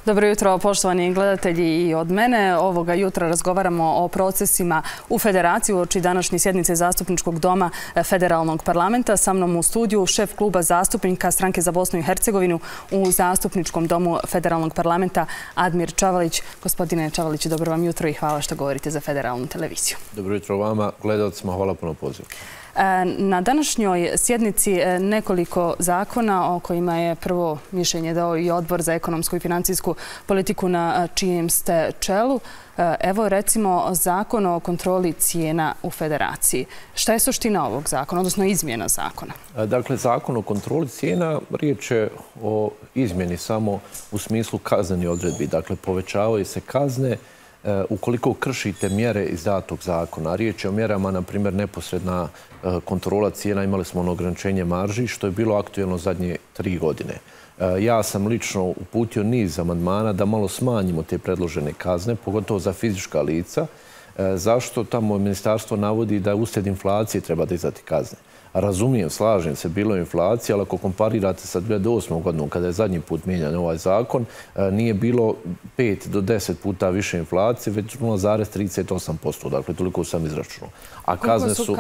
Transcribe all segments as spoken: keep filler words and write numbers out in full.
Dobro jutro, poštovani gledatelji, i od mene. Ovoga jutra razgovaramo o procesima u Federaciji uoči današnje sjednice Zastupničkog doma Federalnog parlamenta. Sa mnom u studiju šef kluba zastupnika Stranke za Bosnu i Hercegovinu u Zastupničkom domu Federalnog parlamenta Admir Čavalić. Gospodine Čavalić, dobro vam jutro i hvala što govorite za Federalnu televiziju. Dobro jutro vama, gledalcima, hvala puno pozivu. Na današnjoj sjednici nekoliko zakona o kojima je prvo mišljenje dao i Odbor za ekonomsku i financijsku politiku na čijem ste čelu. Evo recimo zakon o kontroli cijena u Federaciji. Šta je suština ovog zakona, odnosno izmjena zakona? Dakle, zakon o kontroli cijena riječ je o izmjeni samo u smislu kaznenih odredbi. Dakle, povećavaju se kazne ukoliko kršite mjere iz datog zakona. Riječ je o mjerama, na primjer, neposredna kontrola cijena. Imali smo ono ograničenje marži, što je bilo aktuelno zadnje tri godine. Ja sam lično uputio niz amandmana da malo smanjimo te predložene kazne, pogotovo za fizička lica. Zašto? Tamo ministarstvo navodi da uslijed inflacije treba dizati kazne. Razumijem, slažem se, bilo je inflacija, ali ako komparirate sa dvije tisuće osmom godinom, kada je zadnji put mijenjan ovaj zakon, nije bilo pet do deset puta više inflacije, već nula zarez trideset osam posto. Dakle, toliko sam izračunao. A kazne su,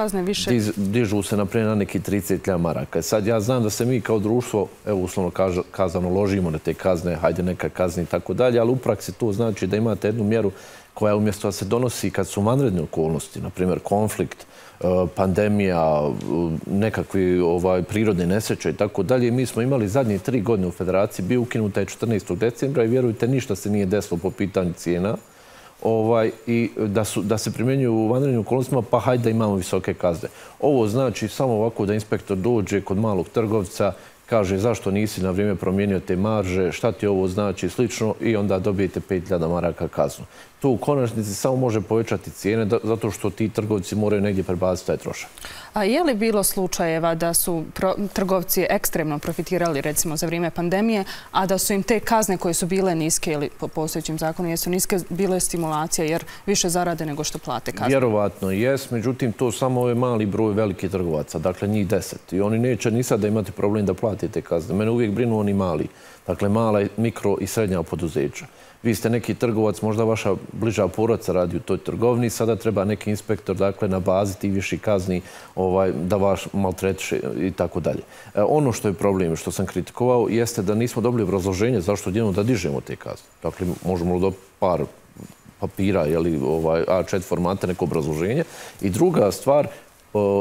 dižu se naprijed na neki trideset hiljada maraka. Sad ja znam da se mi kao društvo, evo uslovno kazano, ložimo na te kazne, hajde neka kazni i tako dalje, ali u praksi to znači da imate jednu mjeru koja umjesto da se donosi kad su vanredne okolnosti, na primjer konflikt, pandemija, nekakvi prirodne nesreće i tako dalje. Mi smo imali zadnje tri godine u Federaciji, bio ukinuta je četrnaestog decembra i vjerujte, ništa se nije desilo po pitanju cijena i da se primjenjuju u vanrednim okolnostima, pa hajde da imamo visoke kazne. Ovo znači samo ovako da inspektor dođe kod malog trgovca, kaže zašto nisi na vrijeme promijenio te marže, šta ti ovo znači, slično, i onda dobijete pet hiljada maraka kaznu. To u konačnici samo može povećati cijene zato što ti trgovci moraju negdje prebaciti taj trošak. A je li bilo slučajeva da su trgovci ekstremno profitirali recimo za vrijeme pandemije, a da su im te kazne koje su bile niske ili po postojećim zakonu jesu niske, bile stimulacija jer više zarade nego što plate kazne? Vjerovatno jes, međutim to samo je mali broj velikih trgovaca, dakle njih deset. I oni neće ni sad da imate problem da platite kazne. Mene uvijek brinu oni mali, dakle mala, mikro i srednja poduzeća. Vi ste neki trgovac, možda vaša bliža porodica radi u toj trgovini, sada treba neki inspektor, dakle, na bazi tih viših kazni da vas maltretiše i tako dalje. Ono što je problem, što sam kritikovao, jeste da nismo dobili obrazloženje zašto odjednom da dižemo te kazne. Dakle, možemo do par papira, A četiri formata, neko obrazloženje. I druga stvar,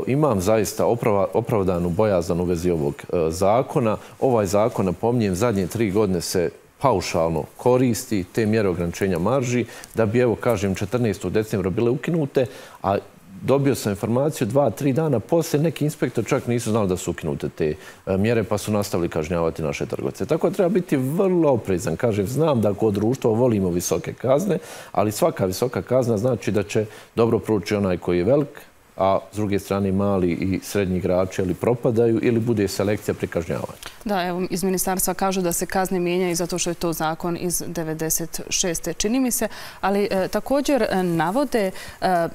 imam zaista opravdanu bojazan u vezi ovog zakona. Ovaj zakon, napominjem, zadnje tri godine se paušalno koristi te mjere ograničenja marži, da bi, evo, kažem, četrnaestog decembra bile ukinute, a dobio sam informaciju dva, tri dana poslije, neki inspektor čak nisu znali da su ukinute te mjere, pa su nastavili kažnjavati naše trgovce. Tako da treba biti vrlo oprezan. Kažem, znam da kod društva volimo visoke kazne, ali svaka visoka kazna znači da će dobro proći onaj koji je velik, a s druge strane mali i srednji igrači ili propadaju ili bude selekcija pri kažnjavanju. Da, evo, iz ministarstva kažu da se kazne mijenjaju zato što je to zakon iz devedeset šeste čini mi se, ali također navode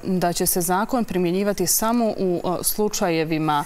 da će se zakon primjenjivati samo u slučajevima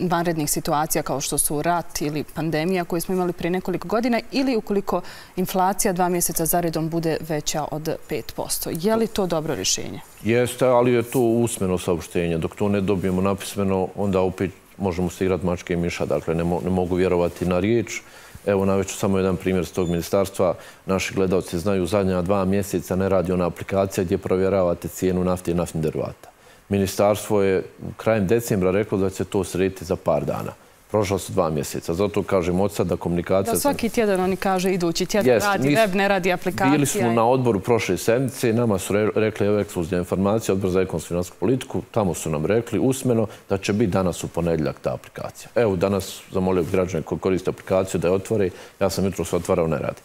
vanrednih situacija kao što su rat ili pandemija koju smo imali prije nekoliko godina ili ukoliko inflacija dva mjeseca zaredom bude veća od pet posto. Je li to dobro rješenje? Jeste, ali je to usmeno saopštenje. Dok to ne dobijemo napismeno, onda opet možemo se igrati mačke i miša. Dakle, ne mogu vjerovati na riječ. Evo, navešću samo jedan primjer s tog ministarstva. Naši gledalci znaju, zadnja dva mjeseca ne radi ona aplikacija gdje provjeravate cijenu nafte i naftnih derivata. Ministarstvo je krajem decembra reklo da će to srediti za par dana. Prošla su dva mjeseca. Zato kažem od sada komunikacija... Da svaki tjedan oni kaže idući tjedan radi web, ne radi aplikacija. Bili smo na odboru prošle sedmice, nama su rekli evo ekskluzivna informacija, Odbor za ekonomsku i financijsku politiku, tamo su nam rekli usmeno da će biti danas u ponedjeljak ta aplikacija. Evo, danas zamolio građane koji koriste aplikaciju da je otvore, ja sam jutro se otvarao, ne radi.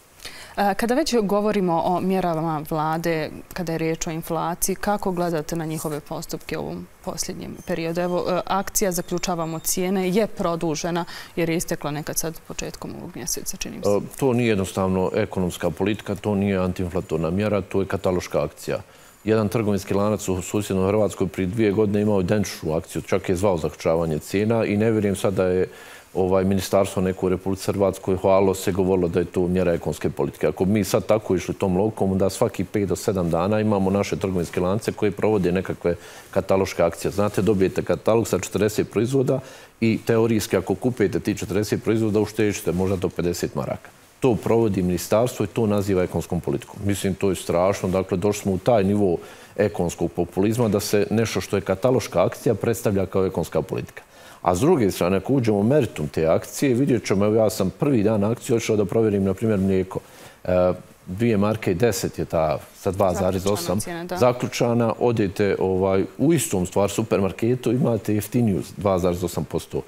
Kada već govorimo o mjerama vlade, kada je riječ o inflaciji, kako gledate na njihove postupke u ovom posljednjem periodu? Evo, akcija Zaključavamo cijene je produžena jer je istekla nekad sad početkom ovog mjeseca, čini mi se. To nije jednostavno ekonomska politika, to nije antiinflatorna mjera, to je kataloška akcija. jedan trgovinski lanac u susjednoj Hrvatskoj prije dvije godine imao identičnu akciju, čak je zvao zaključavanje cijena i ne vjerujem sad da je ovaj, ministarstvo neko u Republici Hrvatskoj hvalilo se, govorilo da je to mjera ekonomske politike. Ako mi sad tako išli tom logikom, da svaki pet do sedam dana imamo naše trgovinske lance koje provode nekakve kataloške akcije. Znate, dobijete katalog sa četrdeset proizvoda i teorijski ako kupujete ti četrdeset proizvoda uštećete možda do pedeset maraka. To provodi ministarstvo i to naziva ekonomskom politikom. Mislim, to je strašno. Dakle, došli smo u taj nivo ekonomskog populizma da se nešto što je kataloška akcija predstavlja kao ekonomska politika. A s druge strane, ako uđemo u meritum te akcije, vidjet ćemo, evo ja sam prvi dan akcije odšao da provjerim, na primjer, mlijeko. Dvije marke i deset je ta sa dva zarez osam zaključana. Odete u istom stvar supermarketu, imate jeftiniju dva zarez osam posto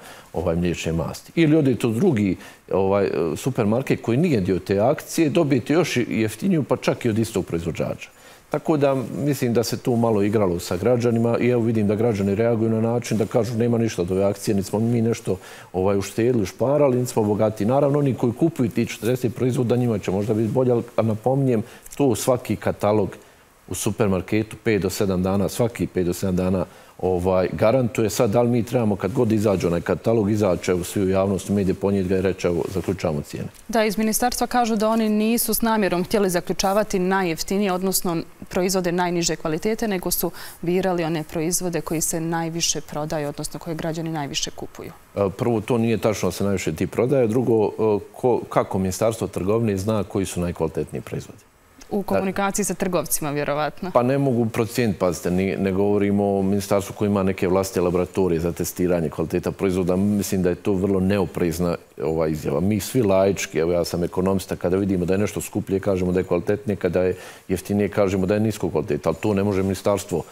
mliječne masti. Ili odete u drugi supermarket koji nije dio te akcije, dobijete još jeftiniju, pa čak i od istog proizvođača. Tako da mislim da se tu malo igralo sa građanima i evo vidim da građani reaguju na način da kažu nema ništa od ove akcije, niti smo mi nešto uštedili, šparali, niti smo bogati. Naravno, oni koji kupuju ti četrdeset proizvoda, njima će možda biti bolje, ali napominjem, to svaki katalog u supermarketu pet do sedam dana, svaki pet do sedam dana garantuje. Sad, da li mi trebamo kad god izađe onaj katalog, izaće u svi u javnosti, medije ponijeti ga i reći, evo, zaključavamo cijene. Da, iz ministarstva kažu da oni nisu s namjerom htjeli zaključavati najjeftinije, odnosno proizvode najniže kvalitete, nego su birali one proizvode koji se najviše prodaju, odnosno koje građani najviše kupuju. Prvo, to nije tačno da se najviše ti prodaje. Drugo, kako ministarstvo trgovine zna koji su najkvalitetniji proizvodi? U komunikaciji sa trgovcima, vjerovatno. Pa ne mogu procijeniti, pazite, ne govorimo o ministarstvu koji ima neke vlastite laboratorije za testiranje kvaliteta proizvoda. Mislim da je to vrlo neoprezna izjava. Mi svi laički, evo ja sam ekonomista, kada vidimo da je nešto skuplje, kažemo da je kvalitetnije, kada je jeftinije, kažemo da je nisko kvaliteta, ali to ne može ministarstvo,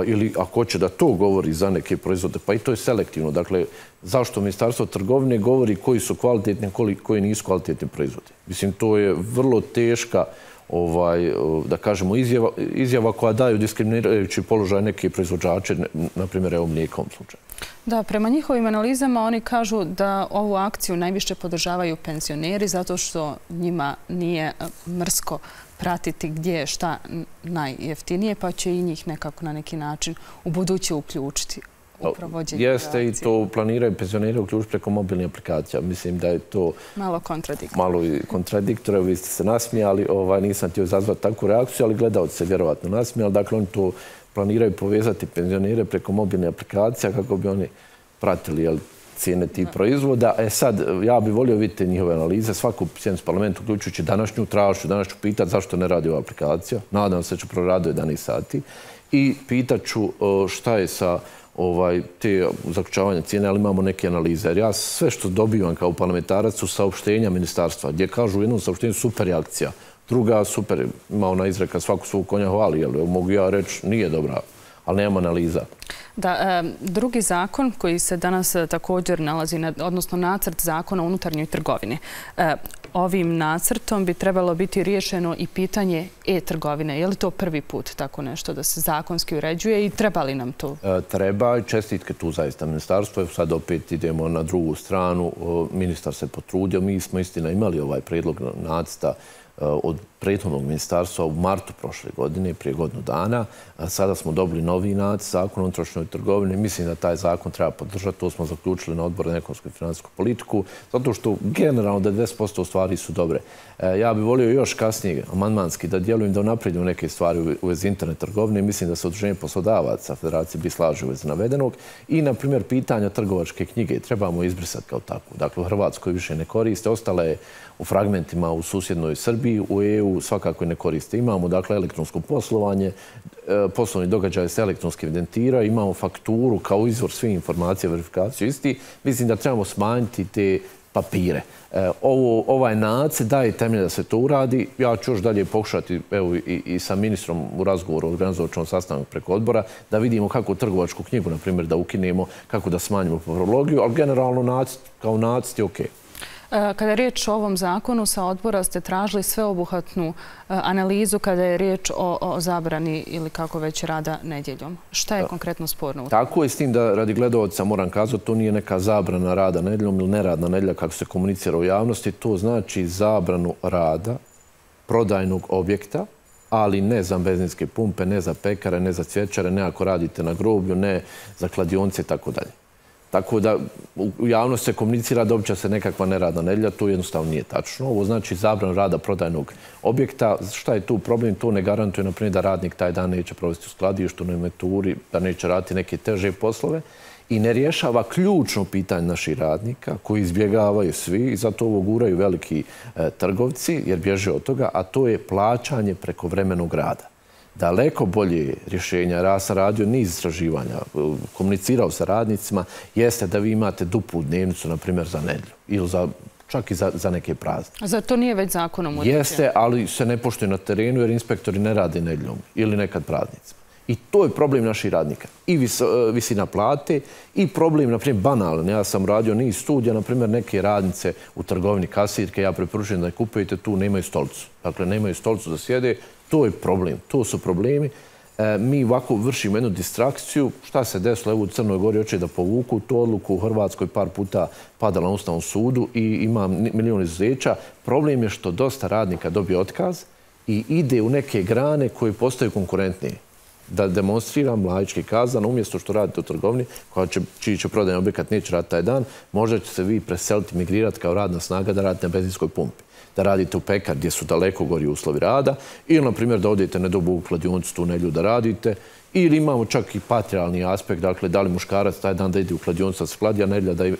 ili ako hoće da to govori za neke proizvode, pa i to je selektivno. Dakle, zašto ministarstvo trgovine govori koji su kvalitetni, koji nisu kvalitetni proizvodi? Mislim, to je vrlo teška da kažemo, izjava koja daju diskriminirajući položaj neke proizvođače, na primjer, evo mlijeka u ovom slučaju. Da, prema njihovim analizama oni kažu da ovu akciju najviše podržavaju penzioneri zato što njima nije mrsko pratiti gdje je šta najjeftinije, pa će i njih nekako na neki način u buduće uključiti. Jeste i to planiraju penzioneri uključiti preko mobilnih aplikacija. Mislim da je to malo kontradiktorno. Malo kontradiktorno. Vi ste se nasmijali, nisam htio izazvati takvu reakciju, ali gledalci se vjerovatno nasmijali. Dakle, oni to planiraju povezati penzionere preko mobilnih aplikacija kako bi oni pratili cijene tih proizvoda. E sad, ja bih volio vidjeti njihove analize. Svaku sjednicu parlamentu, uključujući današnju, tražu, danas ću pitati zašto ne radi ova aplikacija. Nadam se da ću proraditi jedanaest sati. I pitat ću šta je sa te zaključavanja cijene, ali imamo neke analize. Jer ja sve što dobivam kao parlamentarac su saopštenja ministarstva, gdje kažu u jednom saopštenju super je akcija, druga super, ima ona izreka svaku svog konja hvali, mogu ja reći nije dobra, ali nema analiza. Da, drugi zakon koji se danas također nalazi, odnosno nacrt zakona o unutarnjoj trgovini. Ovim nacrtom bi trebalo biti riješeno i pitanje e-trgovine. Je li to prvi put tako nešto da se zakonski uređuje i treba li nam to? Treba i čestitke tu zaista ministarstvo. Sad opet idemo na drugu stranu. Ministar se potrudio. Mi smo istina imali ovaj predlog nacrta od prethodnog ministarstva u martu prošle godine, prije godinu dana. Sada smo dobili novi nacrt zakon o unutrašnjoj trgovini. Mislim da taj zakon treba podržati. To smo zaključili na odboru za ekonomsku i finansijsku politiku, zato što generalno devedeset posto stvari su dobre. Ja bih volio još kasnije, amandmanski, da djelujem da unaprijedimo neke stvari u vezi internet trgovine. Mislim da se Udruženje poslodavaca Federacije bi slaže u vezi navedenog. I, na primjer, pitanja trgovačke knjige trebamo izbrisati kao takvu. Dakle, u Hrvatskoj više ne koriste. Ostale je u fragmentima u susjednoj Srbiji, u E U svakako ne koriste. Imamo, dakle, elektronsko poslovanje, poslovni događaj se elektronski evidentira, imamo fakturu kao izvor svih informacija, verifikaciju isti. Mislim da trebamo smanjiti te papire. Ovaj nacrt daje temelje da se to uradi. Ja ću još dalje pokušati i sa ministrom u razgovoru organizovačnom sastanku preko odbora da vidimo kako trgovačku knjigu, na primjer, da ukinemo, kako da smanjimo papirologiju, ali generalno kao nacrt je okej. Kada je riječ o ovom zakonu, sa odbora ste tražili sveobuhvatnu analizu kada je riječ o zabrani ili kako već rada nedjeljom. Šta je konkretno sporno? Tako je, s tim da radi gledalaca moram kazati, to nije neka zabrana rada nedjeljom ili neradna nedjelja kako se komunicira u javnosti. To znači zabranu rada prodajnog objekta, ali ne za benzinske pumpe, ne za pekare, ne za cvjećare, ne ako radite na groblju, ne za kladionice i tako dalje. Tako da u javnosti se komunicira da uopće se nekakva neradna nedjelja, to jednostavno nije tačno. Ovo znači zabranu rada prodajnog objekta. Šta je tu problem? To ne garantuje, na primjer, da radnik taj dan neće provesti u skladištu, na inventuri, da neće raditi neke teže poslove i ne rješava ključno pitanje naših radnika koji izbjegavaju svi i zato ovo guraju veliki e, trgovci jer bježe od toga, a to je plaćanje prekovremenog rada. Daleko bolje rješenja, ja sam radio niz istraživanja, komunicirao sa radnicima, jeste da vi imate duplu dnevnicu, na primjer, za nedjelju ili za, čak i za, za neke praznike. A zar to nije već zakonom utvrđeno? Jeste, ali se ne poštuje na terenu jer inspektori ne rade nedjeljom ili nekad praznicima. I to je problem naših radnika. I vis, visina plate i problem, na primjer, banalan. Ja sam radio niz studija, na primjer, neke radnice u trgovini kasirke, ja preporučujem da je kupujete tu, nemaju stolicu. Dakle, nemaju stolicu da sjede. To je problem, to su problemi. E, mi ovako vršimo jednu distrakciju. Šta se desilo? Evo u Crnoj Gori hoće da povuku tu odluku. U Hrvatskoj par puta padala na Ustavnom sudu i ima milion izuzeća. Problem je što dosta radnika dobije otkaz i ide u neke grane koje postaju konkurentnije. Da demonstriram laički kazano, umjesto što radite u trgovini, koja će, čiji će prodajni objekat neće raditi taj dan, možda će se vi preseliti, migrirati kao radna snaga da radite na benzinskoj pumpi. Da radite u pekar gdje su daleko gori uslovi rada ili, na primjer, da odete na dobu u kladionicu tu nedjelju da radite ili imamo čak i patrijarni aspekt, dakle, da li muškarac taj dan da ide u kladionicu da se kladi, a nedjelja da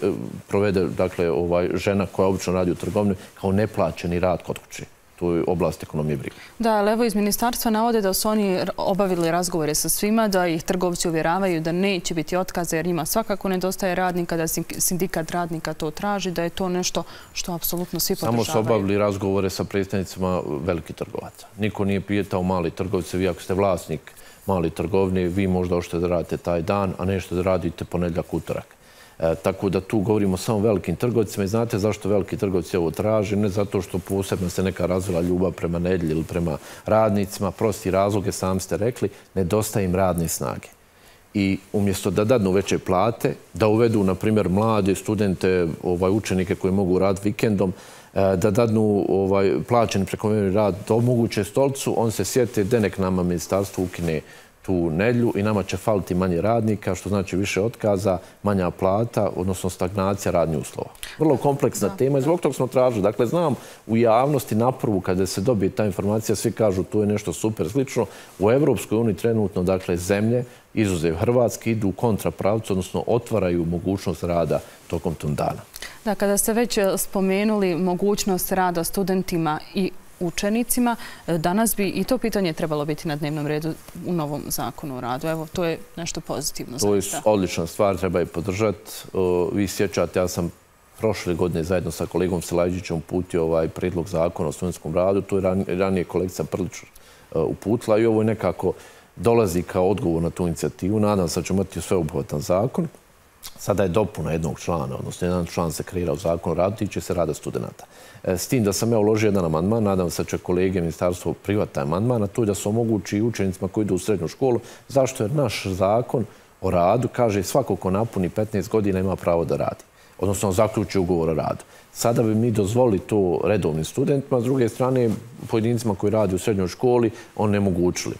provede, dakle, ovaj, žena koja obično radi u trgovini kao neplaćeni rad kod kuće. To je oblast ekonomije brige. Da, ali evo iz ministarstva navode da su oni obavili razgovore sa svima, da ih trgovci uvjeravaju da neće biti otkaza jer njima svakako nedostaje radnika, da sindikat radnika to traži, da je to nešto što apsolutno svi podržavaju. Samo su obavili razgovore sa predstavnicima velikih trgovaca. Niko nije pitao mali trgovci, vi ako ste vlasnik mali trgovine, vi možda hoćete da radite taj dan, a nešto da radite ponedjeljak, utorak. E, tako da tu govorimo samo o velikim trgovcima i znate zašto veliki trgovci ovo traže? Ne zato što posebno se neka razvila ljubav prema nedjelji ili prema radnicima, prosti razloge, sami ste rekli, nedostaje im radne snage. I umjesto da dadnu veće plate, da uvedu, na primjer, mlade studente, ovaj, učenike koji mogu raditi vikendom, da dadnu ovaj, plaćeni prekovremeni rad, da omoguće stolicu, on se sjete da nek nama ministarstvo ukine tu nedjelju i nama će faliti manje radnika, što znači više otkaza, manja plata, odnosno stagnacija radnih uslova. Vrlo kompleksna da, tema i zbog toga smo tražili. Dakle, znam u javnosti na prvu kada se dobije ta informacija, svi kažu to je nešto super slično. U Evropskoj uniji trenutno, dakle, zemlje, izuzev Hrvatske, idu u kontrapravcu, odnosno otvaraju mogućnost rada tokom tom dana. Da, kada ste već spomenuli mogućnost rada studentima i učenicima, danas bi i to pitanje trebalo biti na dnevnom redu u novom zakonu o radu. Evo, to je nešto pozitivno. To je odlična stvar, treba je podržati. Vi sjećate, ja sam prošle godine zajedno sa kolegom Selajđićem uputio ovaj predlog zakona o studentskom radu. To je ranije kolegica Prlić uputila i ovo je nekako dolazi kao odgovor na tu inicijativu. Nadam se da ćemo imati sveobuhvatan zakon. Sada je dopuna jednog člana, odnosno jedan član se kreira u zakonu o radu, tiče se rada studenta. S tim da sam ja uložio jedan amandman, nadam se da će kolege ministarstvo prihvatiti taj amandman, a to je da se omogući učenicima koji idu u srednju školu. Zašto? Jer naš zakon o radu kaže svako ko napuni petnaest godina ima pravo da radi, odnosno zaključi ugovor o radu. Sada bi mi dozvolili to redovnim studentima, s druge strane pojedincima koji radi u srednjoj školi onemogućili.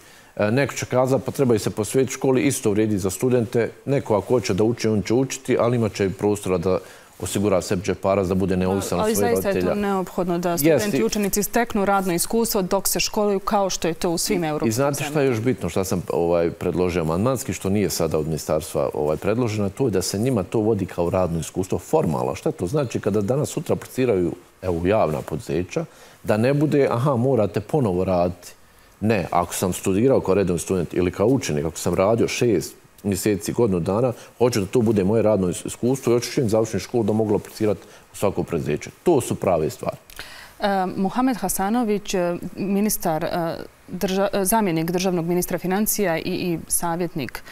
Neko će kazati pa trebaju se posvetiti školi, isto vrijedi za studente. Neko ako hoće da uči, on će učiti, ali imat će i prostora da osigura sebi džeparac, da bude neovisan od svojih roditelja. Ali zaista je to neophodno da studenti i učenici steknu radno iskustvo dok se školuju kao što je to u svim europskim zemljama. I znate šta je još bitno, šta sam ovaj, predložio amandmanski, što nije sada od ministarstva ovaj, predloženo, to je da se njima to vodi kao radno iskustvo formalno. Šta to znači kada danas sutra apliciraju evo, javna poduzeća, da ne bude, aha, morate ponovo raditi. Ne, ako sam studirao kao redovni student ili kao učenik, ako sam radio šest mjeseci, godinu dana, hoću da to bude moje radno iskustvo i hoću čim završim školu da mogu aplicirati u svako preduzeće. To su prave stvari. Muhamed Hasanović, ministar, zamjenik državnog ministra financija i savjetnik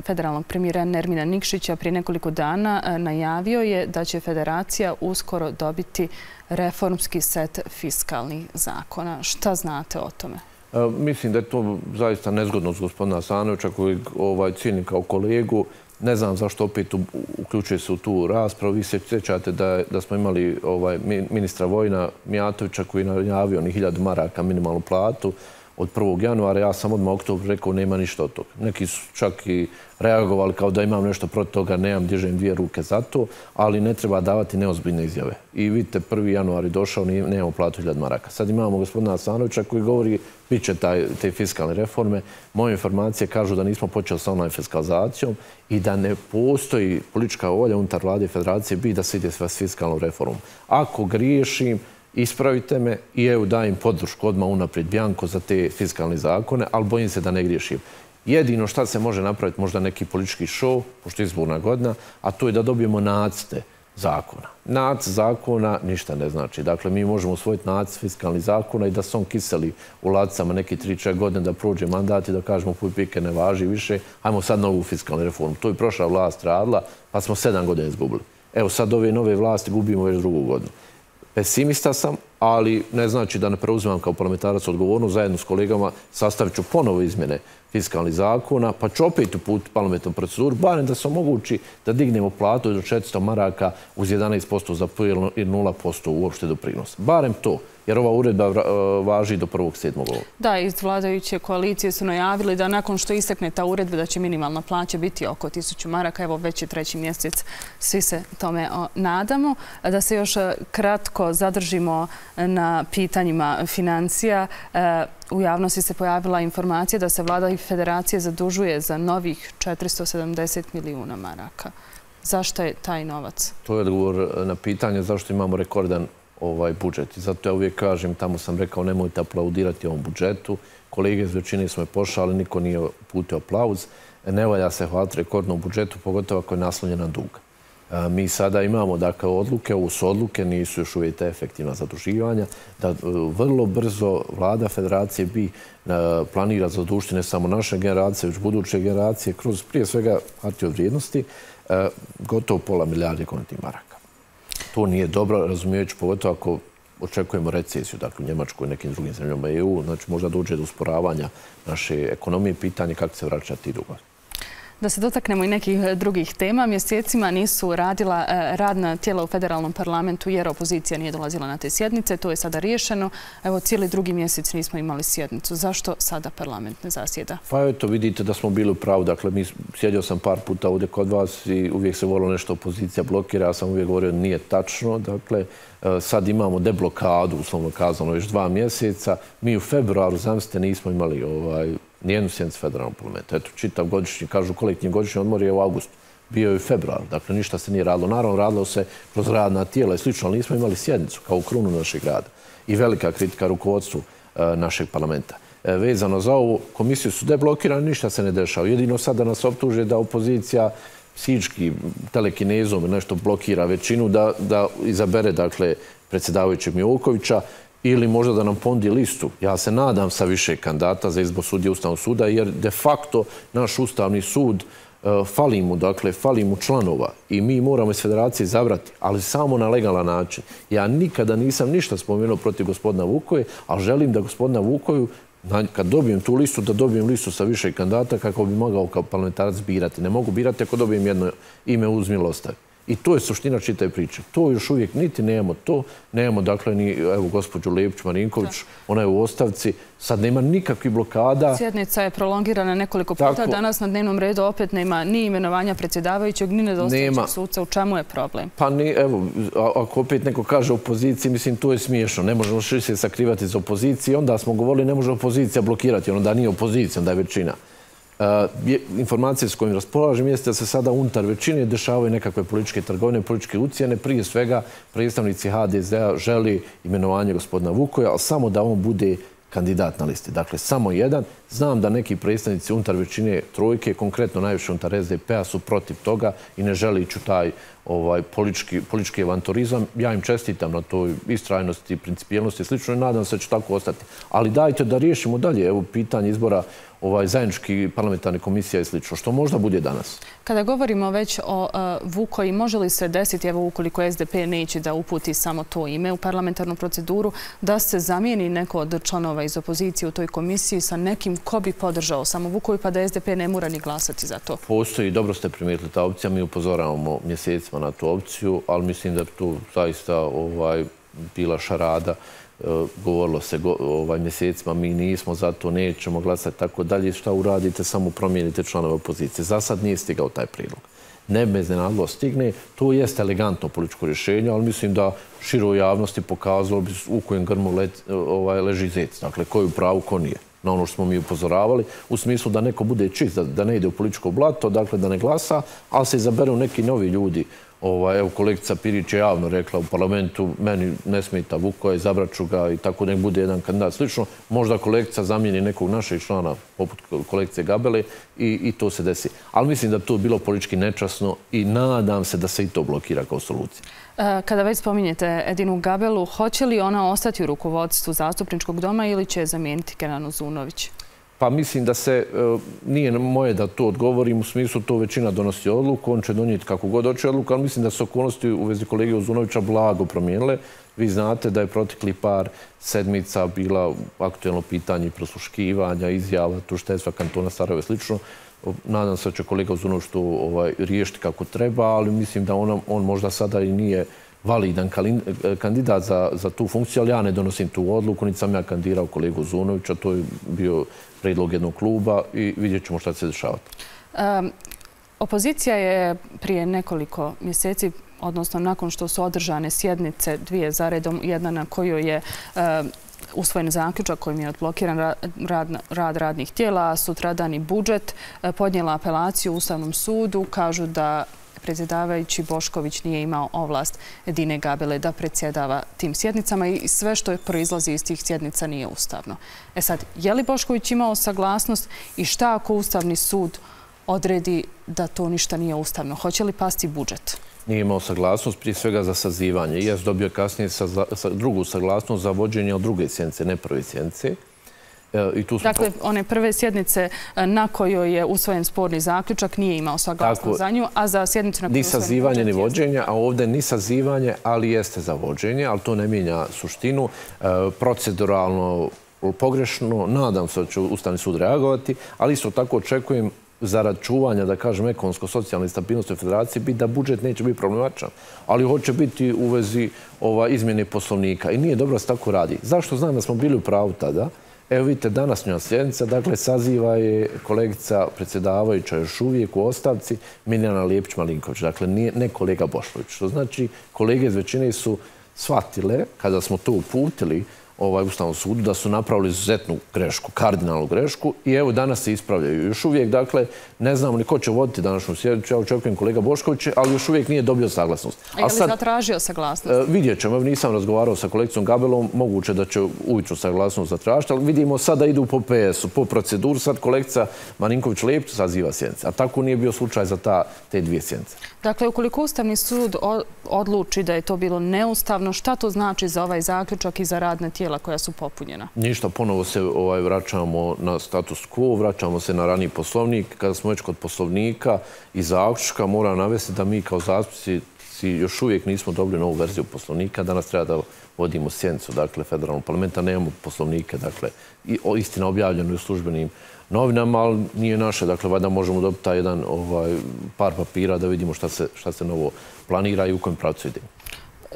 federalnog premijera Nermina Nikšića prije nekoliko dana najavio je da će federacija uskoro dobiti reformski set fiskalnih zakona. Šta znate o tome? Mislim da je to zaista nezgodno s gospodina Hasanovića koji ovaj, cijenim kao kolegu. Ne znam zašto opet uključuje se u tu raspravu. Vi se sjećate da, da smo imali ovaj, ministra Vojna Mijatovića koji je najavio ni hiljadu maraka minimalnu platu od prvog januara. Ja sam odmah u oktobru rekao nema ništa od toga. Neki su čak i reagovali kao da imam nešto protiv toga, nemam, dižem dvije ruke za to, ali ne treba davati neozbiljne izjave. I vidite, prvi januar je došao, nemamo platu hiljadu maraka. Sad imamo gospodina Asanovića koji govori bit će te fiskalne reforme. Moje informacije kažu da nismo počeli sa online fiskalizacijom i da ne postoji politička volja unutar vlade i federacije bi da se ide s fiskalnom reformom. Ako griješim, ispravite me i evo dajem podršku odmah unaprijed bjanko za te fiskalne zakone, ali bojim se da ne griješim. Jedino šta se može napraviti, možda neki politički šou, pošto je izborna godina, a to je da dobijemo nacrte zakona. Nacrt zakona ništa ne znači. Dakle, mi možemo usvojiti nacrt fiskalnih zakona i da se on kiseli u ladicama neki tri četiri godine da prođe mandat i da kažemo puj pike ne važi više, ajmo sad novu fiskalnu reformu. To je prošla vlast radila, pa smo sedam godina izgubili. Evo sad ove nove vlasti gubimo već drugu godinu. Pesimista sam, ali ne znači da ne preuzimam kao parlamentarac odgovornost. Zajedno s kolegama sastavit ću ponovo izmjene fiskalnih zakona, pa ću opet uputiti parlamentarnu proceduru, barem da se omogući da dignemo platu do četiristo maraka uz jedanaest posto za P I i nula posto uopšte doprinos. Barem to, jer ova uredba važi do prvog sedmog Da, iz vladajuće koalicije su najavili da nakon što istekne ta uredba da će minimalna plaća biti oko tisuću maraka. Evo već je treći mjesec, svi se tome nadamo. Da se još kratko zadržimo na pitanjima financija. U javnosti se pojavila informacija da se vlada i federacije zadužuje za novih četiristo sedamdeset milijuna maraka. Zašto je taj novac? To je odgovor na pitanje zašto imamo rekordan ovaj budžet. I zato ja uvijek kažem, tamo sam rekao nemojte aplaudirati ovom budžetu. Kolege iz većine smo je pošali, niko nije uputio aplauz. Ne valja se hvaliti rekordnom budžetu, pogotovo ako je naslonjen na dug. Mi sada imamo dakle odluke, ovo su odluke, nisu još uvijek efektivna zaduživanja, da vrlo brzo vlada federacije bi planira zadužiti ne samo naše generacije, već buduće generacije, kroz prije svega hartije od vrijednosti, gotovo pola milijarde konvertnih maraka. To nije dobro, razumijeći pogotovo ako očekujemo recesiju, dakle u Njemačkoj i nekim drugim zemljama E U, znači možda dođe do usporavanja naše ekonomije, pitanje kako se vraćati dugo. Da se dotaknemo i nekih drugih tema. Mjesecima nisu radila radna tijela u federalnom parlamentu jer opozicija nije dolazila na te sjednice. To je sada riješeno. Evo, cijeli drugi mjesec nismo imali sjednicu. Zašto sada parlament ne zasjeda? Pa eto, vidite da smo bili u pravu. Dakle, mi sjedio sam par puta ovdje kod vas i uvijek se volilo nešto opozicija blokira. Ja sam uvijek govorio da nije tačno. Dakle, sad imamo deblokadu, uslovno kazano, još dva mjeseca. Mi u februaru, zamislite, nismo imali ovaj nijednu sjednicu federalnog parlamenta. Eto, čitav godišnji, kažu kolektivni godišnji odmor je u augustu. Bio je u februaru, dakle ništa se nije radilo. Naravno, radilo se kroz radna tijela i slično, ali nismo imali sjednicu kao u krunu našeg rada. I velika kritika rukovodstvu našeg parlamenta. Vezano za ovu komisiju su deblokirani, ništa se ne dešava. Jedino sada nas optuže da opozicija psihički telekinezom nešto blokira većinu da izabere, dakle, predsjedavajućeg Milokovića ili možda da nam ponudi listu. Ja se nadam sa više kandidata za izbor sudije Ustavnog suda, jer de facto naš Ustavni sud fali mu, dakle, fali mu članova i mi moramo iz federacije izabrati, ali samo na legalan način. Ja nikada nisam ništa spomenuo protiv gospodina Vukoje, ali želim da gospodina Vukoju, kad dobijem tu listu, da dobijem listu sa više kandidata kako bi mogao kao parlamentarac birati. Ne mogu birati ako dobijem jedno ime uz milost. I to je suština čitave priče. To još uvijek niti nemamo to. Nemamo, dakle, ni, evo, gospođu Lepić-Marinković, ona je u ostavci. Sad nema nikakvih blokada. Sjednica je prolongirana nekoliko puta. Danas na dnevnom redu opet nema ni imenovanja predsjedavajućeg, ni nedostajućeg suca. U čemu je problem? Pa ni, evo, ako opet neko kaže opoziciji, mislim, to je smiješno. Ne možemo se sakrivati iz opozicije. Onda smo govorili, ne može opozicija blokirati. Onda nije opozicija, onda je većina. Informacije s kojim raspolažem jeste da se sada unutar većine dešavaju nekakve političke trgovine, političke ucjene. Prije svega predstavnici H D Z-a želi imenovanje gospodina Vukoja, ali samo da on bude kandidat na listi. Dakle, samo jedan. Znam da neki predstavnici unutar većine trojke, konkretno najviše unutar S D P-a, su protiv toga i ne želi ići u taj politički avanturizam. Ja im čestitam na toj istrajnosti, principijelnosti i slično i nadam se da će tako ostati. Ali dajte da riješimo dalje. Evo, pitanje izbora zajednički parlamentarne komisija i slično, što možda bude danas. Kada govorimo već o Vukoji, može li se desiti, evo ukoliko S D P neće da uputi samo to ime u parlamentarnu proceduru, da se zamijeni neko od članova iz opozicije u toj komisiji sa nekim ko bi podržao samo Vukoju, pa da S D P ne mora ni glasati za to? Postoji, dobro ste primijetili ta opcija, mi upozoravamo mjesecima na tu opciju, ali mislim da tu zaista bila šarada. Govorilo se mjesecima, mi nismo, zato nećemo glasati, tako dalje. Šta uradite? Samo promijenite članove opozicije. Za sad nije stigao taj prijedlog. Ne me iznenadilo stigne. To jeste elegantno političko rješenje, ali mislim da široj javnosti pokazalo bi u kojem grmu leži zec. Dakle, ko je u pravu, ko nije. Na ono što smo mi upozoravali, u smislu da neko bude čist, da ne ide u političko blato, dakle da ne glasa, ali se izaberu neki novi ljudi. Evo, kolegica Pirić je javno rekla u parlamentu, meni ne smeta Vukoja, izabrat ću ga i tako nek bude jedan kandidat. Slično, možda kolegica zamijeni nekog našeg člana, poput kolegice Gabele, i to se desi. Ali mislim da bi to bilo politički nečasno i nadam se da se i to blokira kao solucija. Kada već spominjete Edinu Gabelu, hoće li ona ostati u rukovodstvu zastupničkog doma ili će je zamijeniti Kenan Uzunović? Pa mislim da se, nije moje da to odgovorim, u smislu to većina donosi odluku, on će donijeti kako god hoće odluku, ali mislim da su okolnosti u vezi kolege Uzunovića blago promijenile. Vi znate da je protekli par sedmica bila aktuelno pitanje prosluškivanja, izjava, tužiteljstva kantona Sarajevo i slično. Nadam se da će kolega Uzunović to riješiti kako treba, ali mislim da on možda sada i nije validan kandidat za tu funkciju, ali ja ne donosim tu odluku, niti sam ja kandidirao kolegu Uzunovića, to je bio predlog jednog kluba i vidjet ćemo šta će se dešavati. Opozicija je prije nekoliko mjeseci, odnosno nakon što su održane sjednice, dvije za redom, jedna na kojoj je usvojen zaključak kojim je odblokiran rad radnih tijela, a sutradan i budžet, podnijela apelaciju u Ustavnom sudu, kažu da predsjedavajući Bošković nije imao ovlast Edine Gabele da predsjedava tim sjednicama i sve što proizlazi iz tih sjednica nije ustavno. E sad, je li Bošković imao saglasnost i šta ako Ustavni sud odredi da to ništa nije ustavno? Hoće li pasti budžet? Nije imao saglasnost, prije svega za sazivanje. Jes dobio kasnije drugu saglasnost za vođenje od druge sjednice, ne prve sjednice. Dakle, one prve sjednice na kojoj je usvojen sporni zaključak nije imao saglasnost za nju, a za sjednicu na kojoj je usvojen budžet... Ni sazivanje, ni vođenje, a ovdje ni sazivanje, ali jeste za vođenje, ali to ne mijenja suštinu. Proceduralno pogrešno, nadam se da će Ustavni sud reagovati, ali isto tako očekujem zarad čuvanja, da kažem, ekonomsko-socijalne stabilnosti u federaciji, biti da budžet neće biti problematičan, ali hoće biti u vezi izmjene poslovnika. I nije dobro da se tako radi. Zašto znam da smo bili u pravu tada? Evo vidite, današnja sjednica, dakle, saziva je kolegica predsjedavajuća još uvijek u ostavci Mirjana Lijepić-Malinković, dakle, ne kolega Bošković. Što znači, kolege iz većine su shvatile, kada smo to uputili Ustavnom sudu, da su napravili izuzetnu grešku, kardinalnu grešku i evo danas se ispravljaju. Još uvijek, dakle, ne znamo ni ko će voditi današnju sjednicu, ja očekujem kolega Bošković, ali još uvijek nije dobio saglasnost. A je li zatražio saglasnost? Vidjet ćemo, nisam razgovarao sa kolegicom Gabelom, moguće da će ujutro saglasnost zatražiti, ali vidimo sada idu po P S-u, po proceduru, sad kolegica Marinković-Lepić saziva sjednice, a tako nije bio slučaj za te dvije sjednice. Dakle, ukoliko Ustavni sud odluči da je to bilo neustavno, šta to znači za ovaj zaključak i za radne tijela koja su popunjena? Ništa, ponovo se vraćamo na status quo, vraćamo se na raniji poslovnik. Kada smo već kod poslovnika i zaključka, moram navesti da mi kao zastupnici još uvijek nismo dobili novu verziju poslovnika. Danas treba da vodimo sjednicu, dakle, federalnog parlamenta, nemamo poslovnike, dakle, istina objavljeno u službenim novinama, ali nije naše, dakle, valjda možemo dobiti taj jedan par papira da vidimo šta se novo planira i u kojem pravcu ide.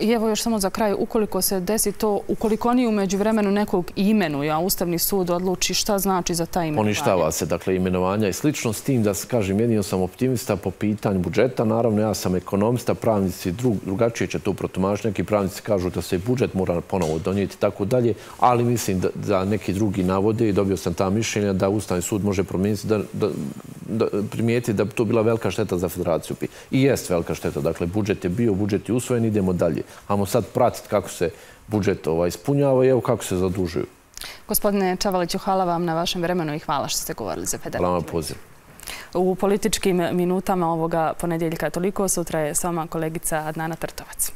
I evo još samo za kraj, ukoliko se desi to, ukoliko oni u međuvremenu nekog imenuju, a Ustavni sud odluči šta znači za ta imenovanja? Poništava se, dakle, imenovanja i slično s tim da, kažem, jedino sam optimista po pitanju budžeta. Naravno, ja sam ekonomista, pravnici drugačije će to protumačiti. Neki pravnici kažu da se budžet mora ponovo donijeti i tako dalje, ali mislim da neki drugi navode i dobio sam ta mišljenja da Ustavni sud može promijeniti, da primijeti da bi to bila velika šteta za federaciju. I jest velika šteta. Dakle, budžet je bio, budžet je usvojen, idemo dalje. Ajmo sad pratiti kako se budžet ispunjava i evo kako se zadužuju. Gospodine Čavaliću, hvala vam na vašem vremenu i hvala što ste govorili za Federaciju. Hvala vam poziv. U političkim minutama ovoga ponedjeljka toliko, sutra je s vama kolegica Adnana Trtovac.